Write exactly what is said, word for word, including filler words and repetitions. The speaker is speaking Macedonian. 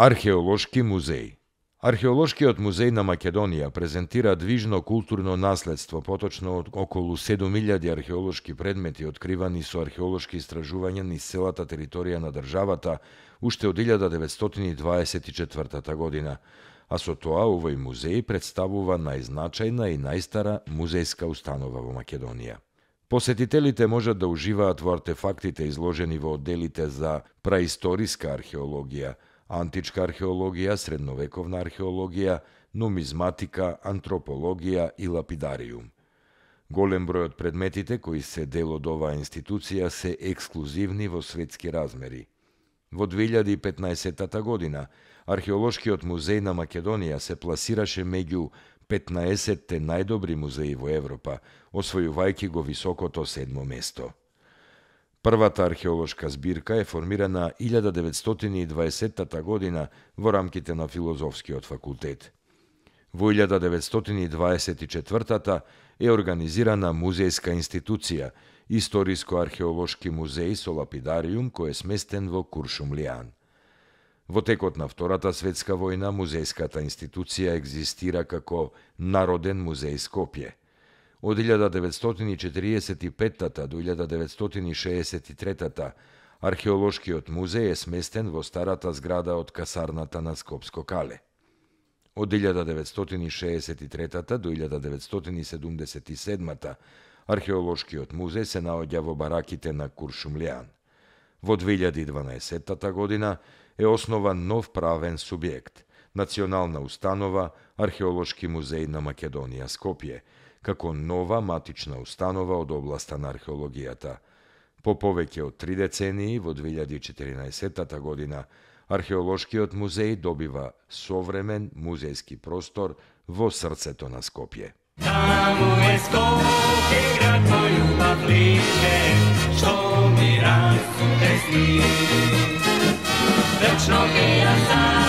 Археолошки музеј. Археолошкиот музеј на Македонија презентира движно културно наследство, поточно од околу седум илјади археолошки предмети откривани со археолошки истражувања низ целата територија на државата уште од илјада деветстотини дваесет и четвртата година, а со тоа овој музеј представува најзначајна и најстара музејска установа во Македонија. Посетителите можат да уживаат во артефактите изложени во одделите за праисториска археологија, античка археологија, средновековна археологија, нумизматика, антропологија и лапидариум. Голем број од предметите кои се дел од оваа институција се ексклузивни во светски размери. Во две илјади и петнаесетта година Археолошкиот музеј на Македонија се пласираше меѓу петнаесетте најдобри музеи во Европа, освојувајќи го високото седмо место. Првата археолошка збирка е формирана илјада деветстотини и дваесетта година во рамките на Филозофскиот факултет. Во илјада деветстотини дваесет и четвртата е организирана музејска институција, Историско-археолошки музеј со лапидариум кој е сместен во Куршумлијан. Во текот на Втората светска војна музејската институција екзистира како Народен музеј Скопје. Од илјада деветстотини четириесет и петта до илјада деветстотини шеесет и третта археолошкиот музеј е сместен во старата зграда од касарната на Скопско кале. Од илјада деветстотини шеесет и третта до илјада деветстотини седумдесет и седмата археолошкиот музеј се наоѓа во бараките на Куршумлијан. Во две илјади и дванаесетта година е основан нов правен субјект, Национална установа Археолошки музеј на Македонија Скопје, како нова матична установа од областа на археологијата. По повеќе од три децении, во две илјади и четиринаесетта година, Археолошкиот музеј добива современ музејски простор во срцето на Скопје. Таму е Скопје, град мој љубав лише, што ми расте сни. Вечно ќе ја